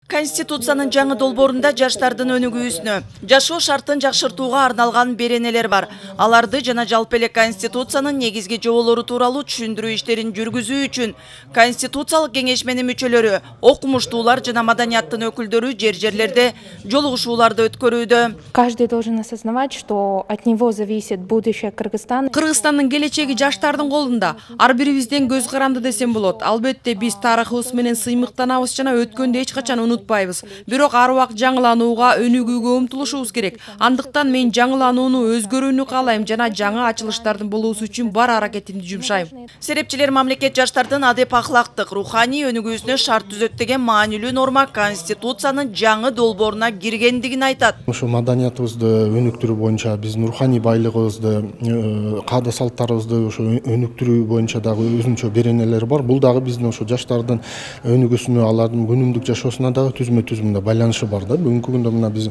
Конституциянын жаңы долбоорунда жаштардын өнүгүүсүнө, жашоо шартын жакшыртууга арналган беренелер бар. Аларды жана жалпы эле Конституциянын негизги жоболору тууралуу түшүндүрүү иштерин жүргүзүү үчүн Конституциялык кеңешменин мүчөлөрү, окумуштуулар жана маданияттын өкүлдөрү жерлерде жолугушууларды өткөрүүдө. Каждый должен осознавать, что от него зависит будущее Кыргызстана. Кыргызстандын келечеги жаштардын колунда. Ар бирибизден көз каранды десем болот. Албетте биз тарыхыбыз менен сыймыктанабыз жана өткөндү эч качан унутпайбыз. Бирок ар убакыт жаңыланууга, өнүгүүгө умтулушубуз керек. Андыктан мен жаңыланууну, өзгөрүүнү каалайм жана жаңы ачылыштардын болуусу үчүн бар аракетимди жумшайм. Серепчилер мамлекет жаштардын адеп ахлактык, руханий өнүгүүсүнө шарт түзөт деген маанилүү норма Конституциянын жаңы долбооруна киргендигин айтат. Ошо маданиятыбызды өнүктүрүү боюнча, биздин руханий байлыгыбызды, каада салттарыбызды ошо өнүктүрүү боюнча дагы өзүнчө беренелер бар. Бул дагы биздин ошо жаштардын өнүгүүсүнө, алардын күнүмдүк жашоосуна дагы түзмө-түзмүндө байланышы бар да. Бүгүнкү күндө мына биз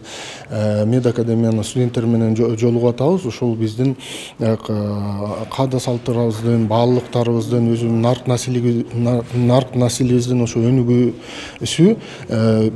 Мед академиянын студенттери менен жолугуп атабыз. Ошол биздин каада салттарыбыздын, баалуулуктарыбыздын, өзүнүн нарк населибиздин ошо өнүгүүсү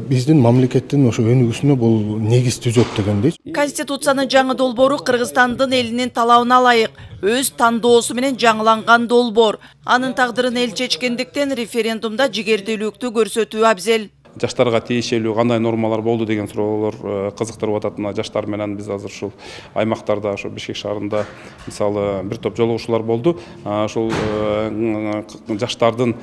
биздин мамлекеттин ошо өнүгүүсүнө бул негиз түзөт дегендей. Конституциянын жаңы долбоору Кыргызстандын элинин талабына ылайык, өз тандоосу менен жаңыланган долбоор. Анын тагдырын эл чечкендиктен референдумда жигердүүлүктү көрсөтүү абзел. Жаштарга тиешелүү кандай нормалар болду деген суроолор кызыктырып атат. Мына жаштар менен биз азыр ушул аймактарда, ошо Бишкек шаарында мисалы бир топ жолугушуулар болду. Ошол жаштардын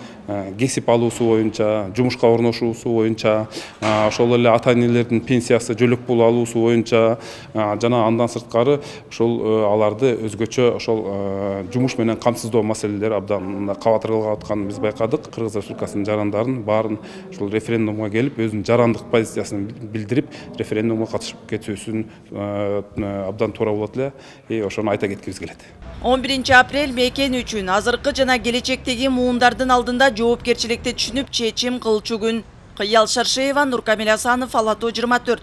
кесип алуусу боюнча, жумушка орношуусу боюнча, ошол эле ата-энелердин пенсиясы, жөлөк пул алуусу боюнча жана андан сырткары ошол аларды өзгөчө ошол жумуш менен камсыздоо маселелери абдан кабатырылып атканын биз байкадык. Кыргыз Республикасынын жарандарын баарын ошол референдумга келип, өзүнүн жарандык позициясын билдирип, референдумга катышып кетүүсүн абдан туура болот эле. Ошону айта кеткибиз келет. 11-апрель мекен үчүн азыркы жана келечектеги муундардын алдында жоопкерчиликти түшүнүп чечим кылчу күн. Кыял Шаршеева, Нуркамил Асанов, Ала Тоо 24.